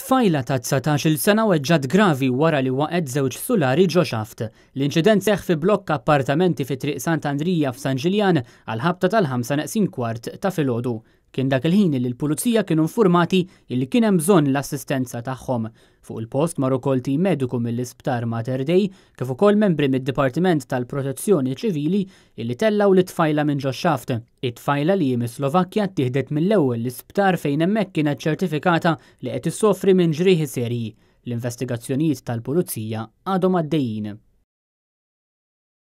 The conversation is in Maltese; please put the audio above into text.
Tfajla ta' 19-il sena weġġgħet gravi wara li waqgħet żewġ sulari ġo xaft. L-inċident seħħ fi blokk appartamenti fi Triq Sant'Andrija f'San Ġiljan għall-ħabta tal-ħamsa neqsin kwart ta' filgħodu. Kien dak il-ħin li l-Pulizija kienu nfurmati illi kien hemm bżonn l-assistenza tagħhom. Fuq il-post mar ukoll tim mediku mill-Isptar Mater Dei kif ukoll membri mid-Dipartiment tal-Protezzjoni Ċivili illi tellgħu lit-tfajla minn ġox-xaft. It-tfajla li hi mis-Slovakkja ttieħdet mill-ewwel l-isptar fejn hemmhekk kienet ċertifikata li qed issofri minn ġrieħi serji. L-investigazzjonijiet tal-Pulizija għadhom għaddejjin.